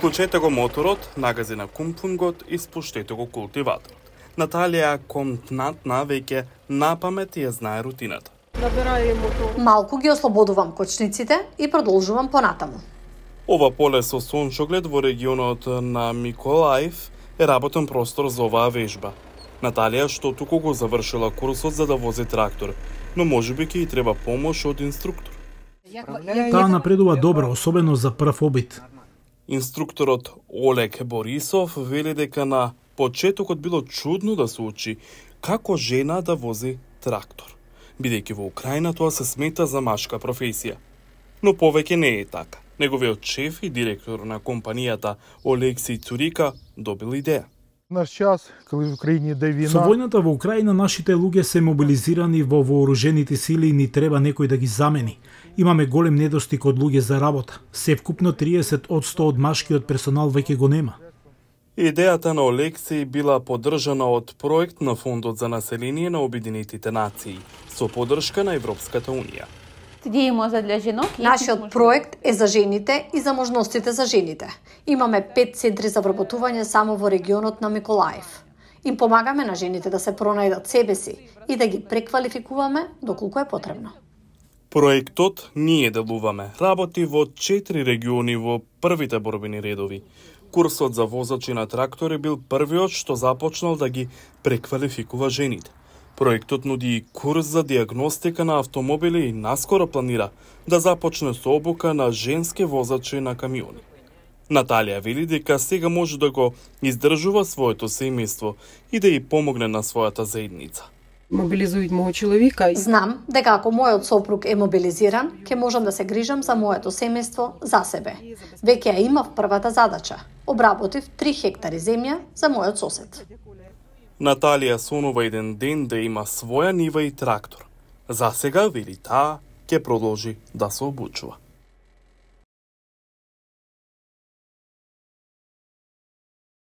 Вклучете го моторот, нагази на кумпунгот и спуштете го култиваторот. Наталија контантна веќе напамет ја знае рутината. Малку ги ослободувам кочниците и продолжувам понатаму. Ова поле со сончоглед во регионот на Миколаев е работен простор за оваа вежба. Наталија што туку го завршила курсот за да вози трактор, но можеби ќе и треба помош од инструктор. Таа напредува добро, особено за прв обид. Инструкторот Олег Борисов вели дека на почетокот било чудно да се учи како жена да вози трактор, бидејќи во Украина тоа се смета за машка професија. Но повеќе не е така. Неговиот шеф и директор на компанијата Олексиј Цурика добил идеја. Со војната во Украина нашите луѓе се мобилизирани во вооружените сили и ни треба некој да ги замени. Имаме голем недостиг од луѓе за работа. Севкупно 30% од машкиот персонал веќе го нема. Идејата на Олексиј била поддржана од проект на Фондот за население на Обединетите нации со поддршка на Европската унија. Нашиот проект е за жените и за можностите за жените. Имаме 5 центри за вработување само во регионот на Миколаев. Им помагаме на жените да се пронајдат себе си и да ги преквалификуваме доколку е потребно. Проектот Ние делуваме работи во 4 региони во првите борбени редови. Курсот за возачи на трактори бил првиот што започнал да ги преквалификува жените. Проектот нуди и курс за диагностика на автомобили и наскоро планира да започне со обука на женски возачи на камиони. Наталија вели дека сега може да го издржува своето семејство и да ја помогне на својата заедница. Мобилизујат мојот човека. Знам дека ако мојот сопруг е мобилизиран, ќе можам да се грижам за моето семејство за себе. Веќе ја имав првата задача. Обработив 3 хектари земја за мојот сосед. Наталија сонува еден ден да има своја нива и трактор. За сега, вели таа, ќе продолжи да се обучува.